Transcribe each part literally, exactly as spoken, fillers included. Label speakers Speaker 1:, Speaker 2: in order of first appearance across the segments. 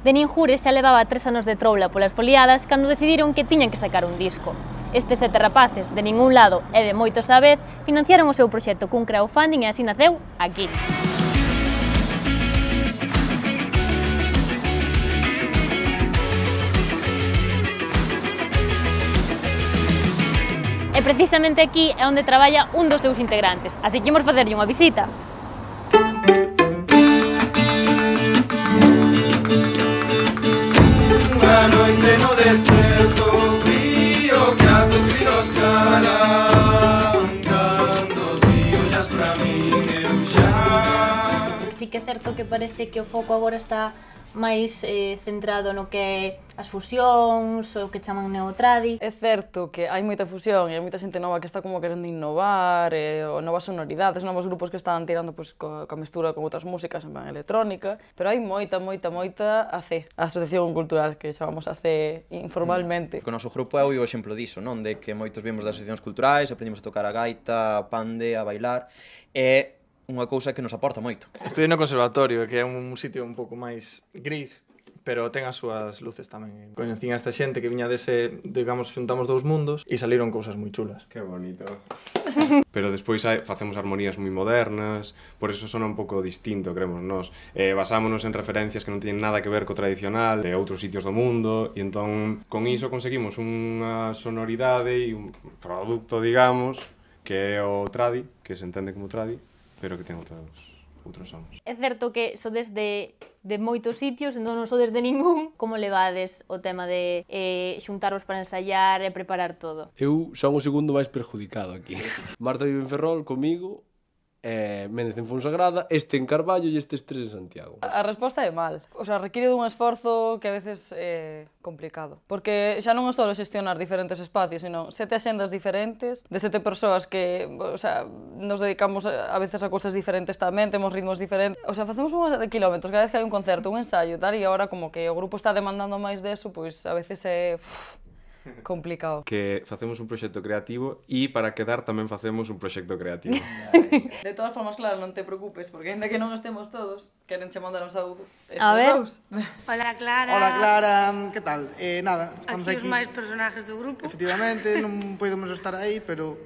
Speaker 1: Denín Jures xa levaba tres anos de troula polas foliadas cando decidiron que tiñan que sacar un disco. Estes sete rapaces, de ningún lado e de moitos á vez, financiaron o seu proxecto cun crowdfunding e así naceu Aquí. E precisamente aquí é onde traballa un dos seus integrantes, así que imos facerlle unha visita.
Speaker 2: Unha noite no deserto, frío que a tus grilos ganan, cando ti ollas pra min eu xa.
Speaker 1: Si que é certo que parece que o foco agora está máis eh, centrado no que é as fusións, o que chaman neotradi.
Speaker 3: É certo que hai moita fusión e hai moita xente nova que está como querendo innovar, e, o novas sonoridades, novos grupos que están tirando pois, co, coa mestura con outras músicas en plan electrónica, pero hai moita, moita, moita A C, a Asociación Cultural, que chamamos A C informalmente.
Speaker 4: O noso grupo é o exemplo diso, non? De que moitos vimos das asociacións culturais, aprendimos a tocar a gaita, a pande, a bailar, e unha cousa que nos aporta moito.
Speaker 5: Estudiei no conservatorio, que é un sitio un pouco máis gris, pero ten as súas luces tamén. Coñecín a esta xente que viña dese, digamos, xuntamos dous mundos e saliron cousas moi chulas.
Speaker 6: Que bonito. Pero despois hai, facemos armonías moi modernas, por eso sona un pouco distinto, creemos nós. Eh, basámonos en referencias que non teñen nada que ver co tradicional de outros sitios do mundo, e entón con iso conseguimos unha sonoridade e un produto, digamos, que é o tradi, que se entende como tradi, pero que ten outros, outros sons.
Speaker 1: É certo que sodes de, de moitos sitios, entón non sodes de ningún. Como levades o tema de eh, xuntaros para ensaiar e preparar todo?
Speaker 7: Eu son o segundo máis perjudicado aquí. Marta vive en Ferrol comigo, eh, Méndez en Fonsagrada, este en Carballo e estes tres en Santiago.
Speaker 3: A resposta é mal. O sea, requiere dun esforzo que a veces é complicado. Porque xa non é só xestionar diferentes espacios, sino sete axendas diferentes, de sete persoas que, o sea, nos dedicamos a veces a cousas diferentes tamén, temos ritmos diferentes. O sea, facemos unha de kilómetros cada vez que hai un concerto, un ensayo, tal, e agora como que o grupo está demandando máis deso, pois a veces é uf, complicado.
Speaker 6: Que facemos un proxecto creativo e para quedar tamén facemos un proxecto creativo.
Speaker 3: De todas formas, claro, non te preocupes, porque ainda que non estemos todos, queren che mandar un saúdo.
Speaker 1: A ver.
Speaker 8: Hola, Clara.
Speaker 9: Hola, Clara. Que tal? Eh, nada, estamos
Speaker 8: aquí. Aquí os máis personajes do grupo.
Speaker 9: Efectivamente, non podemos estar aí, pero...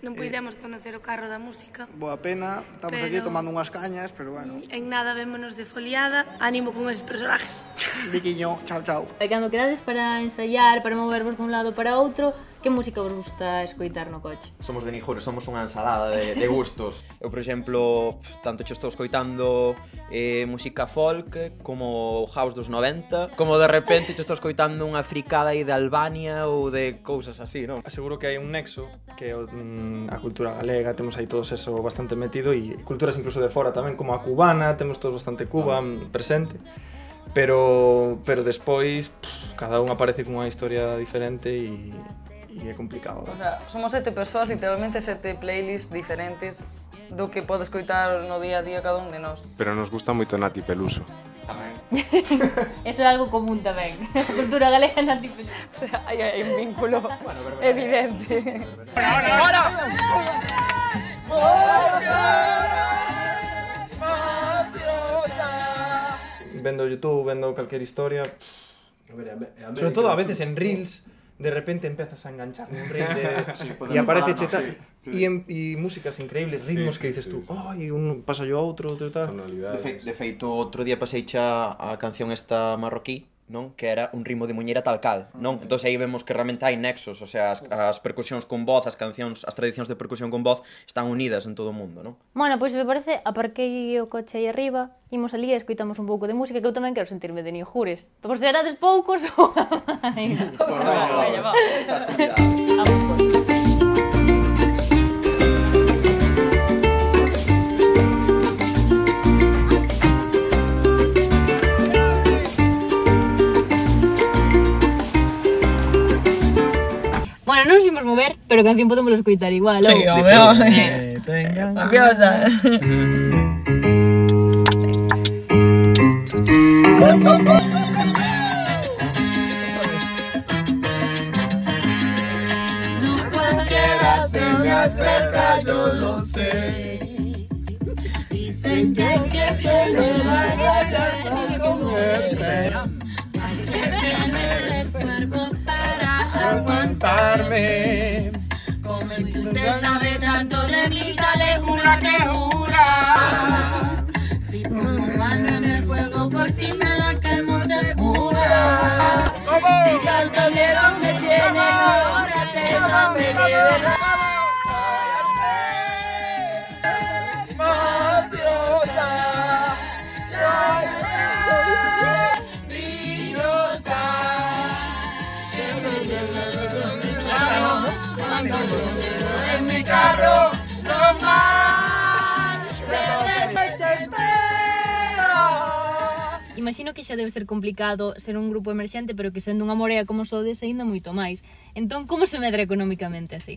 Speaker 8: Non puidemos eh, conocer o carro da música.
Speaker 9: Boa pena, estamos pero... aquí tomando unhas cañas, pero bueno.
Speaker 8: En nada vémonos de foliada, ánimo con esos personajes.
Speaker 9: Viquiño, chao, chao.
Speaker 1: E cando quedades para ensaiar, para movervos dun lado para outro, que música vos gusta escoitar no coche?
Speaker 4: Somos de Nijures, somos unha ensalada de, de gustos. Eu, por exemplo, tanto che estou escoitando eh, música folk como house dos noventa, como de repente che estou escoitando unha fricada aí de Albania ou de cousas así, non?
Speaker 5: Aseguro que hai un nexo, que é mm, a cultura galega, temos aí todos eso bastante metido, e culturas incluso de fora tamén, como a cubana, temos todos bastante Cuba mm, presente. Pero, pero despois, pff, cada un aparece cunha historia diferente e e é complicado.
Speaker 3: O sea, somos sete persoas, literalmente sete playlists diferentes do que pode escoitar no día a día cada un de nós.
Speaker 6: Pero nos gusta moito Nati Peluso.
Speaker 1: Tamén. Eso é algo común tamén. A cultura galega é Nati Peluso.
Speaker 3: O sea, hai, hai un vínculo bueno, evidente.
Speaker 2: ¡Ahora, ahora!
Speaker 5: Vendo YouTube, vendo calquer historia, sobre todo a veces en Reels, de repente empezas a enganchar un reel de... sí, e aparece cheta sí, sí. E músicas increíbles, ritmos sí, que dices sí, tú, ai, un pasa yo a outro, outro tal.
Speaker 4: De, fe, de feito, outro día pasei xa a canción esta marroquí, non? Que era un ritmo de muñeira tal cal, non? Entón aí vemos que realmente hai nexos, o sea, as, as percusións con voz, as cancións, as tradicións de percusión con voz están unidas en todo o mundo, non?
Speaker 1: Bueno, pois me parece, aparquei o coche aí arriba, imos ali e escoitamos un pouco de música, que eu tamén quero sentirme de Nijures. Por serades poucos ou a máis?
Speaker 4: Por favor, estás convidada.
Speaker 1: Vamos, pois. Bueno, non nos imos mover, pero a canción podemos escoitar igual,
Speaker 3: sí,
Speaker 1: ou?
Speaker 3: obvio. Eh, tengan... Mafiosa.
Speaker 2: No cualquiera se me acerca, yo lo sé. Dicen que que te me vayas a comer.
Speaker 10: Hay que tener el cuerpo para aguantarme. Como tú te sabes tanto de mí, dale jura que jura. Si pongo mano en el fuego por ti me la quemo segura. Si tanto miedo me tiene ahora tengo me queda. En mi carro, no más se desespera.
Speaker 1: Imagino que xa debe ser complicado ser un grupo emerxente, pero que sendo unha morea como sodes aínda moito máis. Entón, como se medra económicamente así?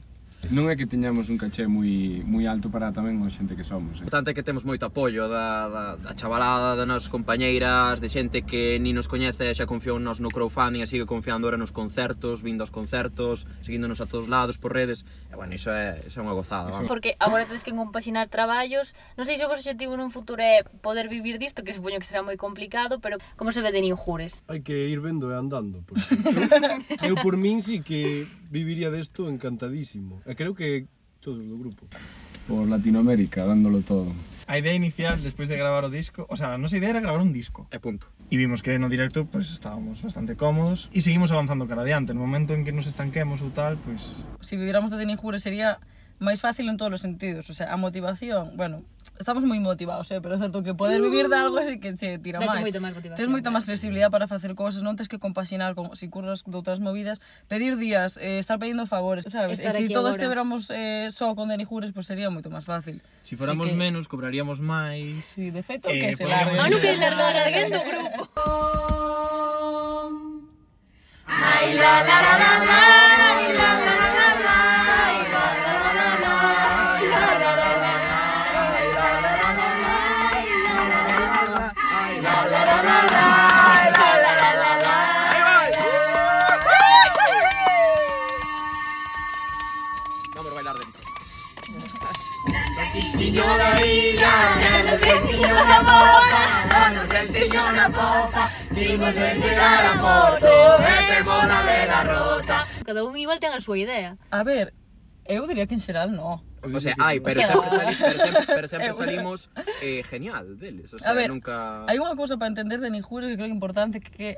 Speaker 11: Non é que teñamos un caché moi moi alto para tamén a xente que somos.
Speaker 4: O importante é que temos moito apoio da, da, da chavalada, das nosas compañeiras, de xente que ni nos coñece xa confiou nos no crowdfunding e sigue confiando ahora nos concertos, vindo aos concertos, seguíndonos a todos lados por redes. E bueno, iso é, iso é unha gozada, vamos.
Speaker 1: Porque agora tedes que compaxinar traballos. Non sei se o vosso objetivo nun futuro é poder vivir disto, que supoño que será moi complicado, pero como se ve de Ninjures?
Speaker 7: Hai que ir vendo e andando, porque eu, eu por min sí que viviría desto encantadísimo. E creo que todos do grupo.
Speaker 11: Por Latinoamérica, dándolo todo.
Speaker 5: A idea inicial, despois de gravar o disco, o sea, a nosa idea era gravar un disco.
Speaker 4: E punto.
Speaker 5: E vimos que no directo, pues, estábamos bastante cómodos e seguimos avanzando cara adiante. No momento en que nos estanquemos ou tal, pues...
Speaker 3: Si viviéramos de Ninjures sería máis fácil en todos os sentidos, o sea, a motivación, bueno, estamos moi motivados, eh, pero é certo que poder vivir de algo sí que che tira máis. Tens moita máis flexibilidade para facer cousas, non tens que compaxinar con, si curras de outras movidas, pedir días, eh, estar pedindo favores, sabes? E se si todos estiveramos eh, só con Ninjures, pues sería moito máis fácil.
Speaker 5: Si fóramos que... menos, cobraríamos máis...
Speaker 3: Si, sí, de feito,
Speaker 5: eh,
Speaker 3: que se largue.
Speaker 1: Non no que largar alguén do grupo.
Speaker 10: Ay, la la la la la, la la la la la.
Speaker 4: Vamos a bailar dentro.
Speaker 10: Sentiño la vida, nos sentiño la boca, nos sentiño la popa, vimos de llegar a Porto, e temos na vela rota.
Speaker 1: Cada un igual ten a súa idea.
Speaker 3: A ver, eu diría que en xeral no.
Speaker 4: O sea, hai, pero, o sea, sempre, sali, pero, sempre, pero sempre salimos eh, genial deles. O sea,
Speaker 3: a ver,
Speaker 4: nunca...
Speaker 3: hai unha cousa para entender de Ninjures que creo que é importante, que, que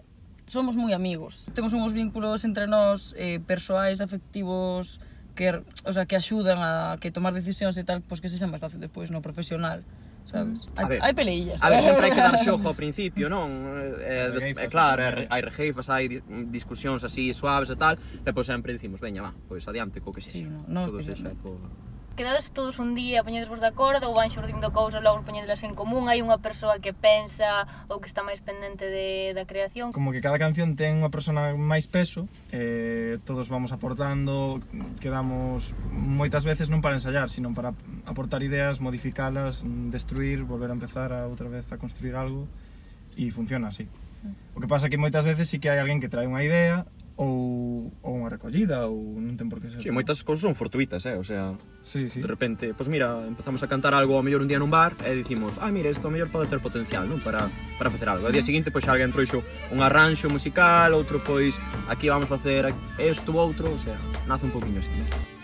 Speaker 3: somos moi amigos. Temos uns vínculos entre nós eh, persoais, afectivos, que, o sea, que axudan a que tomar decisións e tal, pois que se xa máis fácil despois no profesional, sabes? Hai, hai peleillas.
Speaker 4: A ver, sempre hai que dar xogo ao principio, non? É, des, é claro, hai rejeifas, hai discusións así suaves e tal, e pois sempre dicimos, veña, va, pois adiante co que sexa.
Speaker 3: Sí, no, no,
Speaker 4: todo
Speaker 3: que
Speaker 4: sexa por...
Speaker 1: Quedades todos un día, poñedesvos de acordo ou van xurdindo cousas, logo poñedelas en común? Hai unha persoa que pensa ou que está máis pendente de, da creación?
Speaker 5: Como que cada canción ten unha persona máis peso, eh, todos vamos aportando, quedamos moitas veces non para ensayar, sino para aportar ideas, modificalas, destruir, volver a empezar a outra vez a construir algo, e funciona así. O que pasa é que moitas veces sí que hai alguén que trae unha idea, ou, ou unha recollida, ou non ten por que ser.
Speaker 4: Sí, moitas cousas son fortuitas, eh, o sea,
Speaker 5: sí, sí.
Speaker 4: De repente, pois pues mira, empezamos a cantar algo ao mellor un día nun bar e dicimos, ah, mira, isto ao mellor pode ter potencial, non, para, para facer algo. Ao día seguinte, pois pues, alguén trouxo un arranxo musical, outro, pois, aquí vamos facer isto ou outro, o sea, nace un poquinho así, ¿no?